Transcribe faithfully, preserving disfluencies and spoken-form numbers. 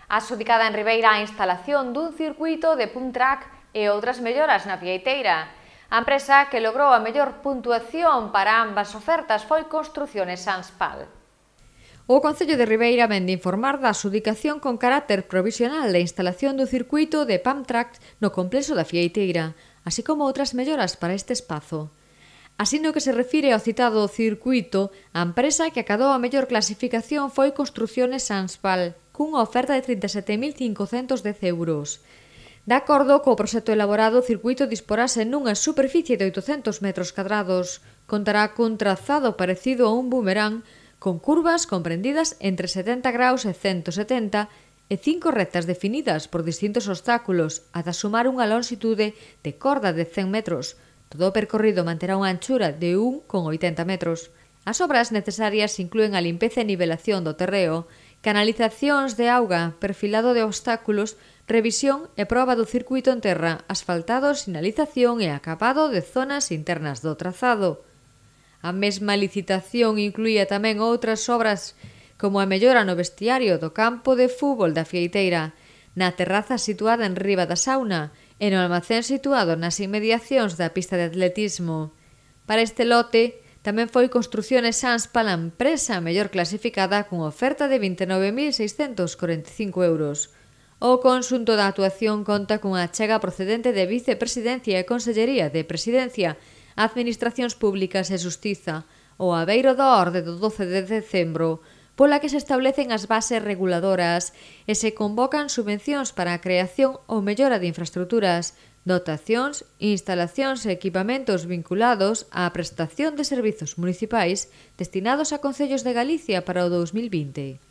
Adxudicada en Ribeira a instalación dun circuito de pump track e outras melloras na fieiteira. A empresa que logrou a mellor puntuación para ambas ofertas foi Construcciones Sanspal. O Concello de Ribeira vén de informar da adxudicación con carácter provisional da instalación do circuito de pump track no complexo da fieiteira, así como outras melloras para este espazo. Así no que se refire ao citado circuito, a empresa que acadou a mellor clasificación foi Construcciones Sanspal, cunha oferta de trinta e sete mil cincocentos dez euros. De acordo co proxecto elaborado, o circuito disporase nunha superficie de oitocentos metros cadrados, contará cun trazado parecido a un boomerang, con curvas comprendidas entre setenta graus e ciento setenta e cinco rectas definidas por distintos obstáculos, ata sumar unha longitude de corda de cen metros. Todo o percorrido manterá unha anchura de un coma oitenta metros. As obras necesarias inclúen a limpeza e nivelación do terreo, canalizacións de auga, perfilado de obstáculos, revisión e proba do circuito en terra, asfaltado, sinalización e acabado de zonas internas do trazado. A mesma licitación incluía tamén outras obras como a mellora no vestiario do campo de fútbol da fieiteira, na terraza situada en riba da sauna e no almacén situado nas inmediacións da pista de atletismo. Para este lote, tamén foi Construcciones Sanspal a empresa mellor clasificada cunha oferta de vinte e nove mil seiscentos corenta e cinco euros. O conxunto da actuación conta cunha achega procedente de Vicepresidencia e Consellería de Presidencia, Administracións Públicas e Xustiza, o abeiro da orde do doce de decembro, pola que se establecen as bases reguladoras e se convocan subvencións para a creación ou mellora de infraestruturas, dotacións, instalacións e equipamentos vinculados á prestación de servizos municipais destinados a concellos de Galicia para o dous mil vinte.